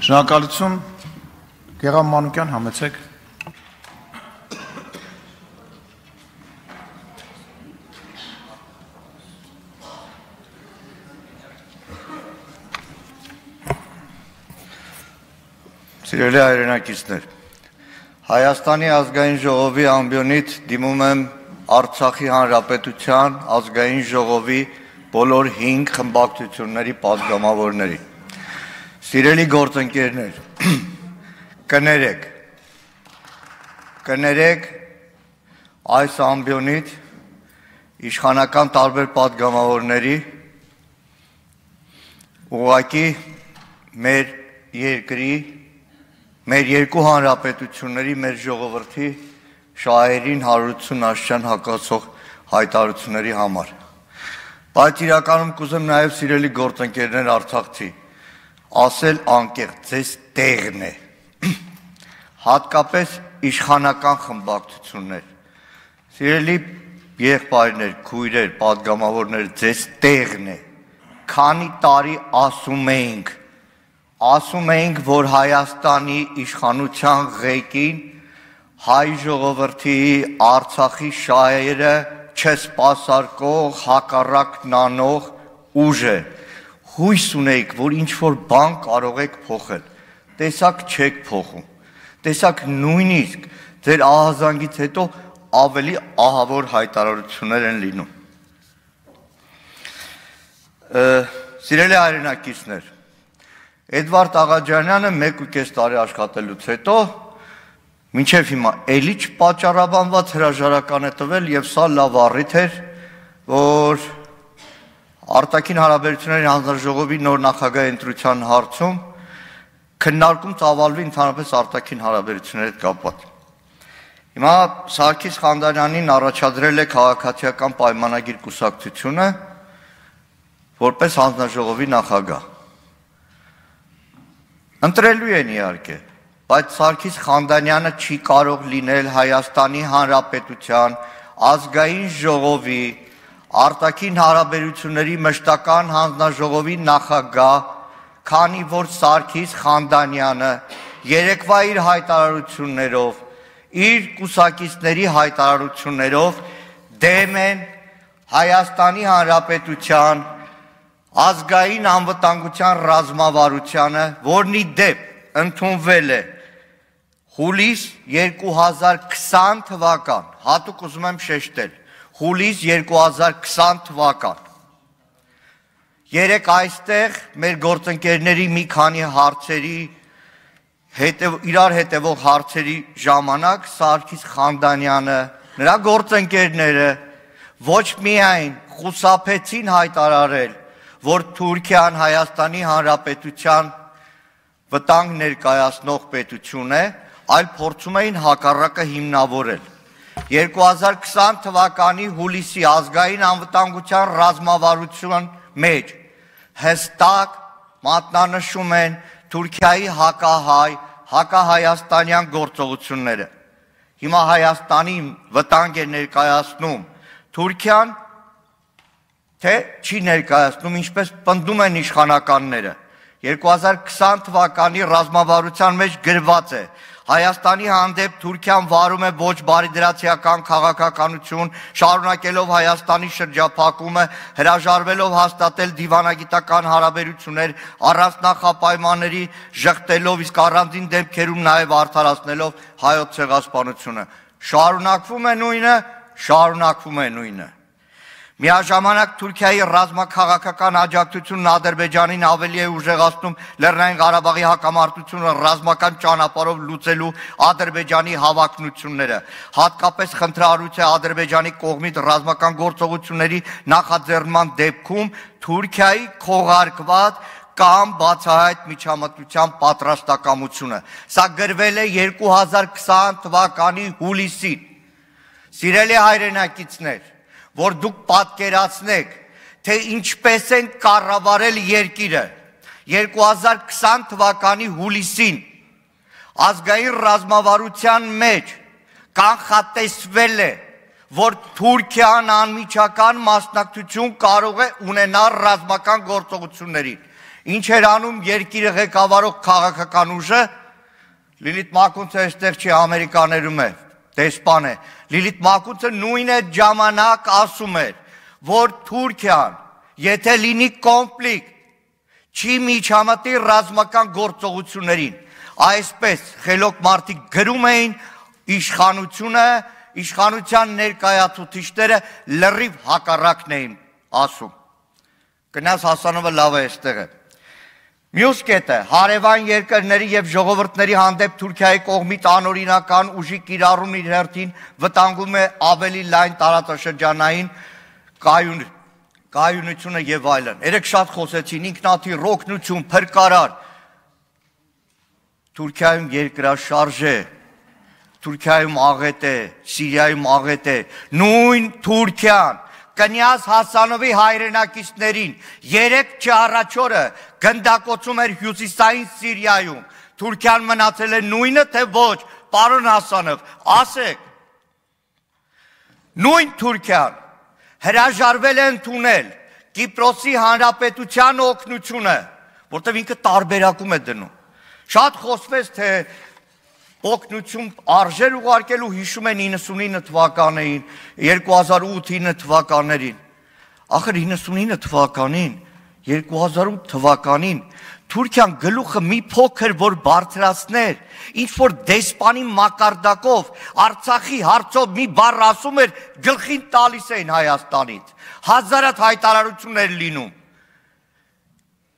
Շնորհակալություն, Գեղամ Մանուկյան, համեցեք։ Սիրելի հայրենակիցներ, Հայաստանի ազգային ժողովի ամբիոնից դիմում եմ Արցախի Հանրապետության ազգային ժողովի բոլոր 5 խմբակցությունների պատգամավորների։ Սիրելի գործընկերներ, կներեք այս ամբիոնից իշխանական տարբեր պատգամավորների ուղղակի մեր երկրի մեր երկու հանրապետությունների մեր ժողովրդի շահերին հարություն աշճան հակասող հայտարարությունների համար։ Բայց իրականում կուզեմ նաև սիրելի գործընկերներ Արցախցի ասել անկեղծ ձեզ տեղն է։ Հատկապես իշխանական խմբակցություններ։ Սիրելի եղբայրներ, քույրեր, պատգամավորներ, ձեզ տեղն է։ Քանի տարի ասում էինք, որ Հայաստանի իշխանության ղեկին հայ ժողովրդի Արցախի շահերը չսպասարկող հակառակն անող ուժ է։ Հույս ունեիք, որ ինչ-որ բան կարող եք փոխել։ Տեսակ չեք փոխում։ Տեսակ նույնիսկ ձեր ահազանգից հետո ավելի ահավոր հայտարարություններ են լինում։ Սիրելի հայրենակիցներ, Էդվարդ Աղաջանյանը 1.5 տարի աշխատելուց հետո մինչև հիմա էլի չպատճառաբանված հրաժարական է տվել եւ սա լավ առիթ էր, որ արտաքին հարաբերությունների հանձնաժողովի նոր նախագահի ընտրության հարցում քննարկում ծավալվի ընդհանրապես արտաքին հարաբերությունների հետ կապված։ Հիմա Սարգիս Խանդանյանին առաջադրել է քաղաքացիական պայմանագիր կուսակցությունը որպես հանձնաժողովի նախագահ։ Ընտրելու են իհարկե, բայց Սարգիս Խանդանյանը չի կարող լինել Հայաստանի Հանրապետության ազգային ժողովի արտաքին հարաբերությունների մշտական հանձնաժողովի նախագահ, քանի որ Սարգիս Խանդանյանը երեկվա իր հայտարարություններով, իր կուսակիցների հայտարարություններով դեմ են Հայաստանի Հանրապետության ազգային անվտանգության ռազմավարությանը, որն ի դեպ ընդունվել է հուլիս 2020 թվական, հատուկ ուզում եմ շեշտել, հուլիս 2020 թվական։ Երեք այստեղ մեր գործընկերների մի քանի հարցերի իրար հետևող հարցերի ժամանակ Սարգիս Խանդանյանը, նրա գործընկերները ոչ միայն խուսափեցին հայտարարել, որ Թուրքիան Հայաստանի Հանրապետության վտանգ ներկայացնող պետություն է, այլ փորձում էին հակառակը հիմնավորել։ 2020 թվականի հուլիսի ազգային անվտանգության ռազմավարության մեջ հստակ մատնանշում են Թուրքիայի հակահայաստանյան գործողությունները։ Հիմա Հայաստանի վտանգ է ներկայացնում Թուրքիան, թե չի ներկայացնում, ինչպես պնդում են իշխանականները։ 2020 թվականի ռազմավարության մեջ գրված է. Հայաստանի հանդեպ Թուրքիան վարում է ոչ բարիդրացիական քաղաքականություն, շարունակելով Հայաստանի շրջափակումը, հրաժարվելով հաստատել դիվանագիտական հարաբերություններ, առանց նախապայմանների ժխտելով, իսկ առանձին դեպքերում նաև արդարացնելով հայոց ցեղասպանությունը։ Շարունակվում է նույնը։ Միաժամանակ Թուրքիայի ռազմաքաղաքական աջակցությունն Ադրբեջանին ավելի է ուժեղացնում Լեռնային Ղարաբաղի հակամարտությունը ռազմական ճանապարհով լուծելու Ադրբեջանի հավակնությունները։ Հատկապես խնդրահարույց է Ադրբեջանի կողմից ռազմական գործողությունների նախաձեռնման դեպքում Թուրքիայի քողարկված կամ բացահայտ միջամտության պատրաստակամությունը։ Սա գրվել է 2020 թվականի հուլիսին։ Սիրելի հայրենակիցներ, որ դուք պատկերացնեք, թե ինչպես են կառավարել երկիրը 2020 թվականի հուլիսին ազգային ռազմավարության մեջ կանխատեսվել է, որ Թուրքիան անմիջական մասնակցություն կարող է ունենալ ռազմական գործողություններին։ Ինչ էր անում երկիրը ղեկավարող քաղաքական ուժը, Լիլիթ Մակունցը այստեղ չի, Ամերիկաներում է, դեսպան է։ Լիլիթ Մակունցը նույն այդ ժամանակ ասում էր, որ Թուրքիան, եթե լինի կոնֆլիկտ, չի միջամտի ռազմական գործողություններին։ Այսպես խելոք մարդիկ գրում էին իշխանության ներկայացուցիչները լրիվ հակառակն էին ասում։ Գնաս Հասանովը լավ է այստեղ է։ Մյուս կետը հարևան երկրների եւ ժողովուրդների հանդեպ Թուրքիայի կողմից անօրինական ուժի կիրառումն իր հերթին վտանգում է ավելի լայն տարածաշրջանային կայունությունը եւ այլն։ Երեք շատ խոսեցին ինքնաթիռ, օգնություն, փրկարար։ Թուրքիայում երկրաշարժ է, Թուրքիայում աղետ է, Սիրիայում աղետ է, նույն Թուրքիան Կնյազ Հասանովի հայրենակիցներին 3 առաջ օրը գնդակոծում էր հյուսիսային Սիրիայում, Թուրքիան մնացել է նույնը, թե ոչ, պարոն Հասանով, ասեք, նույն Թուրքիան հրաժարվել է ընդունել Կիպրոսի հանրապետության օգնությունը, որտեղ ինքը տարբերակում է դնում, շատ խոսվեց, թե օգնություն արժեր ուղարկելու հիշում են 99 թվականներին, 2008-9 թվականներին, ախր 99 թվականին, 2008 թվականին, Թուրքիան գլուխը մի փոքր որ բարձրացներ, ինչ որ դեսպանի մակարդակով, Արցախի հարցով մի բառ ասում էր, գլխին տալիս էին Հայաստանից, հազարատ հայտարարություններ լինում,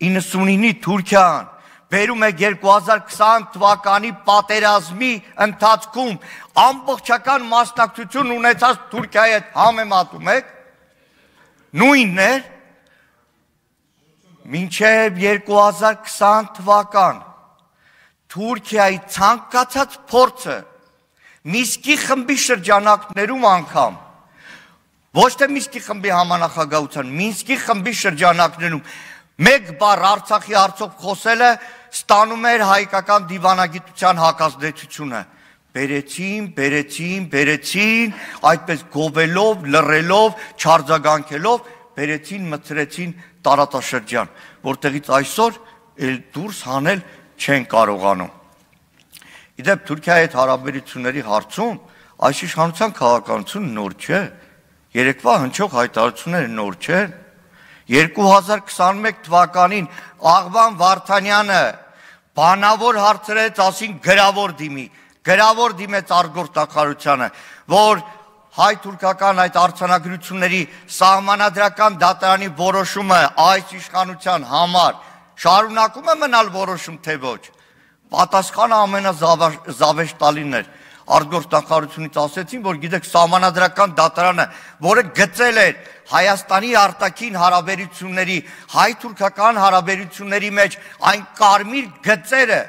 99-ի Թուրքիան, բերում է 2020 թվականի պատերազմի ընթացքում ամբողջական մասնակցություն ունեցած Թուրքիայի հետ համեմատում եք, նույնն էր, մինչև 2020 թվական Թուրքիայի ցանկացած փորձը Միսկի խմբի շրջանակներում անգամ, ոչ թե Միսկի խմբի համանախագահության, Մինսկի խմբի շրջանակներում մեկ բառ Արցախի հարցով խոսելը ստանում էր հայկական դիվանագիտության հակազդեցությունը, բերեցին, այդպես գովելով, լռելով, չարձագանքելով, բերեցին, մցրեցին տարածաշրջան, որտեղից այսօր էլ դուրս հանել չեն կարողանում։ Իդեպ Թուրքիայի հետ հարաբերությունների հարցում այս իշխանության քաղաքականությունը նոր չէ, երեկվա հնչող հայտարարությունները նոր չեն։ 2021 թվականին Աղվան Վարդանյանը բանավոր հարցրեց, ասին գրավոր դիմեց արտգործնախարարությանը, որ հայ-թուրքական այդ արձանագրությունների սահմանադրական դատարանի որոշումը այս իշխանության համար շարունակում է մնալ որոշում, թե ոչ։ Պատասխանը ամենազավեշտալին էր։ Արտգործնախարարությունից ասեցին, որ գիտեք, սահմանադրական դատարանը, որը գծել էր Հայաստանի արտաքին հարաբերությունների, հայ-թուրքական հարաբերությունների մեջ այն կարմիր գծերը,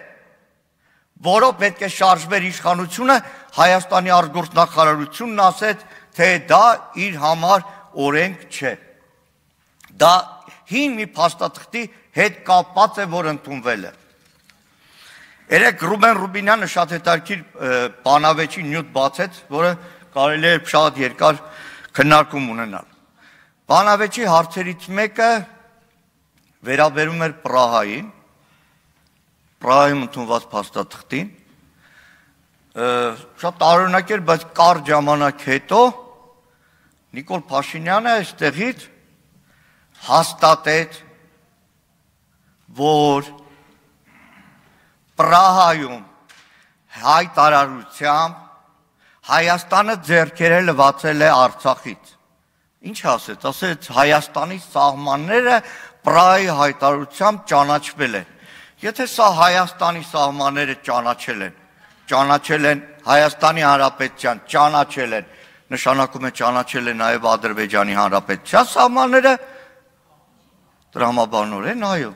որով պետք է շարժվեր իշխանությունը, Հայաստանի արտգործնախարարությունն ասեց, թե դա իր համար օրենք չէ։ Դա հին մի փաստաթղթի հետ կապված է, որ ընդունվել է։ Երեք Ռուբեն Ռուբինյանը շատ հետաքրքիր բանավեճի նյութ բացեց, որը կարելի է շատ երկար քննարկում ունենալ։ Բանավեճի հարցերից մեկը վերաբերում էր Պրահային, Պրահայում ընդունված փաստաթղթին, շատ տարօրինակ էր, բայց կարճ ժամանակ հետո Նիկոլ Փաշինյանը այստեղից հաստատեց, որ Պրահայում հայտարարությամբ Հայաստանը ձեռքերը լվացել է Արցախից։ Ինչ ասեց, ասեց Հայաստանի սահմանները Պրահայի հայտարարությամբ ճանաչվել են։ Եթե սա Հայաստանի սահմանները ճանաչել են Հայաստանի Հանրապետության, ճանաչել են, նշանակում է ճանաչել է նաև Ադրբեջանի Հանրապետության սահմանները, տրամաբանորեն, այո։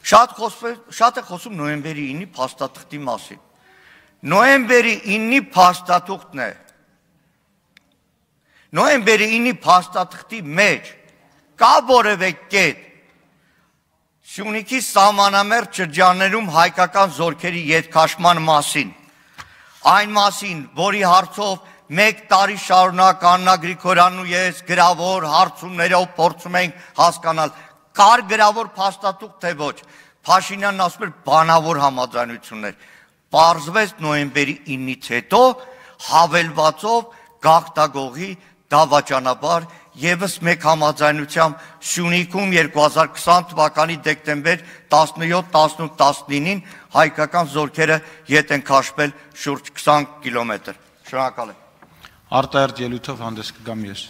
Շատ է խոսում նոյեմբերի 9-ի փաստաթղթի մասին։ Նոյեմբերի 9-ի փաստաթուղթն է։ Նոյեմբերի 9-ի փաստաթղթի մեջ կա որևէ կետ Սյունիքի սահմանամերձ շրջաններում հայկական զորքերի ետքաշման մասին, այն մասին, որի հարցով 1 տարի շարունակ Աննա Գրիգորյանն ու ես գրավոր հարցումներով փորձում ենք հասկանալ, կար գրավոր փաստաթուղթ թե ոչ։ Փաշինյանն ասում էր բանավոր համաձայնություններ։ Պարզվեց նոյեմբերի 9-ից հետո հավելվածով գաղթագողի դավաճանաբար եւս մեկ համաձայնությամբ Սյունիքում 2020 թվականի դեկտեմբեր 17-18-19-ին հայկական զորքերը ետ են քաշվել շուրջ 20 կիլոմետր։ Շնորհակալ եմ։ Արտահերտ ելույթով հանդես կգամ ես։